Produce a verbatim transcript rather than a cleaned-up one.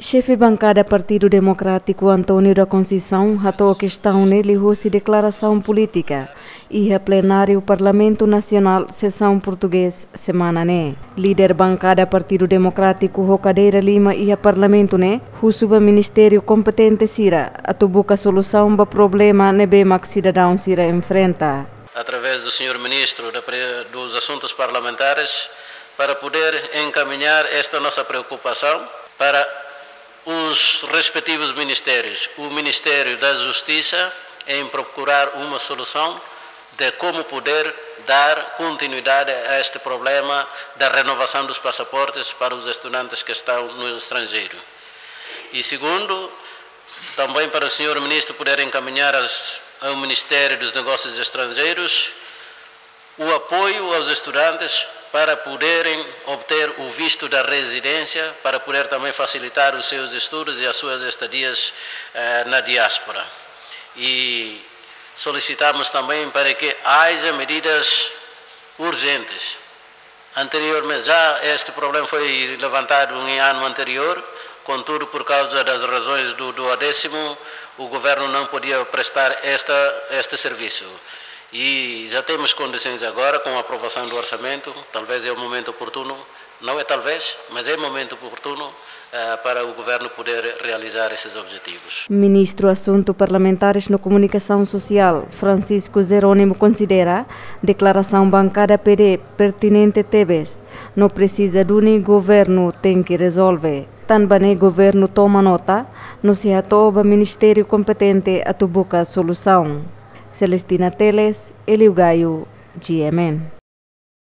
Xefe bankada Partidu Demokrátiku António da Conceição hato'o kestaun ne'e liuhusi deklarasaun polítika iha plenáriu Parlamentu Nasionál sesaun portugés semana ne'e. Líder bankada Partidu Demokrátiku ho kadeira lima iha Parlamentu ne'e husu ba ministériu kompetente sira atu buka solusaun ba problema ne'ebé mak sidadaun sira enfrenta. Através do senhor ministro da pre-, dos Assuntos Parlamentares, para poder encaminhar esta nossa preocupação para os respectivos ministérios, o Ministério da Justiça, em procurar uma solução de como poder dar continuidade a este problema da renovação dos passaportes para os estudantes que estão no estrangeiro. E segundo, também para o senhor ministro poder encaminhar as, ao Ministério dos Negócios Estrangeiros o apoio aos estudantes para poderem obter o visto da residência, para poder também facilitar os seus estudos e as suas estadias, eh, na diáspora. E solicitamos também para que haja medidas urgentes. Anteriormente, já este problema foi levantado em ano anterior, contudo, por causa das razões do, do duodécimo, o governo não podia prestar esta, este serviço. E já temos condições agora, com a aprovação do orçamento, talvez é o momento oportuno, não é talvez, mas é momento oportuno, eh, para o governo poder realizar esses objetivos. Ministru Asuntu Parlamentares no Komunikasaun Sosiál, Francisco Jerónimo, konsidera deklarasaun bankada P D pertinente tebes, no presiza duni governu tenke rezolve. Tanba ne'e governu toma nota, no sei hato'o ba ministériu kompetente atu buka solusaun. Celestina Teles, Elio Gaio, G M N.